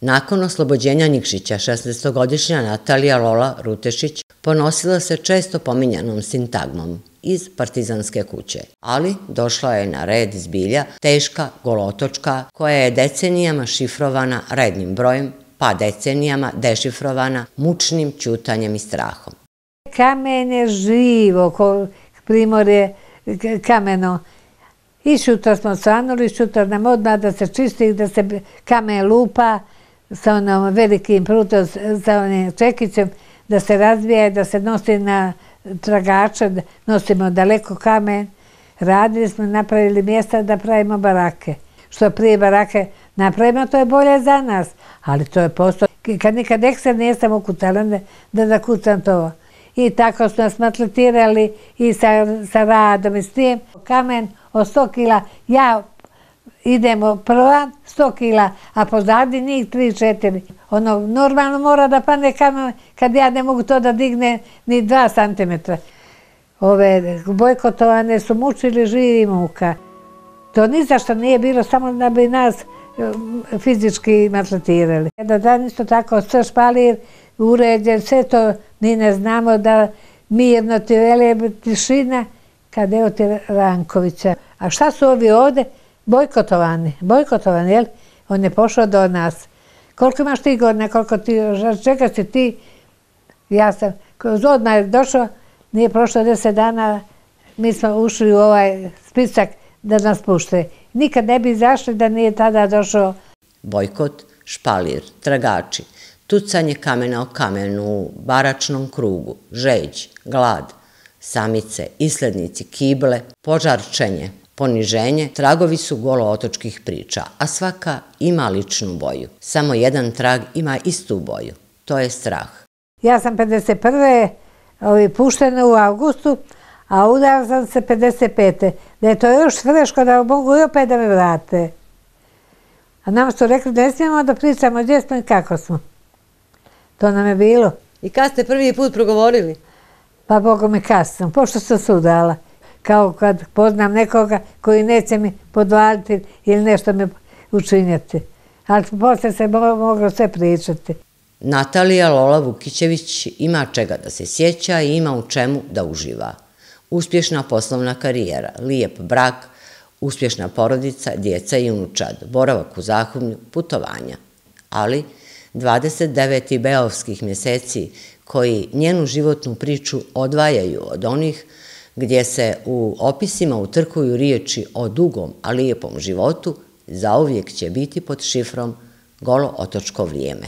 Nakon oslobođenja Nikšića, 16-godišnja Natalija Lola Rutešić ponosila se često pominjanom sintagmom iz Partizanske kuće, ali došla je na red zbilja teška golotočka koja je decenijama šifrovana rednim brojem, pa decenijama dešifrovana mučnim ćutanjem i strahom. Kamen je živo, primorje kameno. I šutor smo svanuli, šutor nam odmah da se čisti, da se kamen lupa sa onom velikim prutom, sa onim čekićem, da se razvija, da se nosi na tragače, nosimo daleko kamen. Radili smo, napravili mjesta da pravimo barake. Što prije barake napravimo, to je bolje za nas, ali to je posao. Kad nikad ekser nisam ukucala, da zakucam to. I tako smo nas maltretirali i sa radom i s tim. Kamen od 100 kila, ja idemo prva 100 kila, a pozadi njih 3-4. Ono, normalno mora da padne kamen kad ja ne mogu to da digne ni 2 cm. Ove bojkotovane su mučili živi muka. To ni zašto nije bilo, samo da bi nas fizički maltretirali. Jedan dan isto tako sve špalir, uređen, sve to ni ne znamo da mirno ti vele tišina, kad evo ti Rankovića. A šta su ovi ovde? Bojkotovani, jel? On je pošao do nas. Koliko imaš ti godina, čega si ti? Ja sam, odmah je došao, nije prošlo 10 dana, mi smo ušli u ovaj spisak da nas pušte. Nikad ne bi izašli da nije tada došao. Bojkot, špalir, tragači, tucanje kamena o kamenu u baračnom krugu, žeđ, glad, samice, islednici, kible, požarčenje, poniženje, tragovi su golootočkih priča, a svaka ima ličnu boju. Samo jedan trag ima istu boju, to je strah. Ja sam 51. puštena u avgustu, a udala sam se 55. Da je to još freško da mogu i opet da me vrate. A nam su rekli da ne smijemo da pričamo gdje smo i kako smo. To nam je bilo. I kad ste prvi put progovorili? Pa Bogu mi kasno, pošto sam se udala. Kao kad poznam nekoga koji neće mi podvaliti ili nešto mi učinjati. Ali posle se moglo sve pričati. Natalija Lola Vukićević ima čega da se sjeća i ima u čemu da uživa. Uspješna poslovna karijera, lijep brak, uspješna porodica, djeca i unučad, boravak u Zahumlju, putovanja. Ali 29 beovskih mjeseci koji njenu životnu priču odvajaju od onih gdje se u opisima utrkuju riječi o dugom, a lijepom životu, zauvijek će biti pod šifrom Golootočko vrijeme.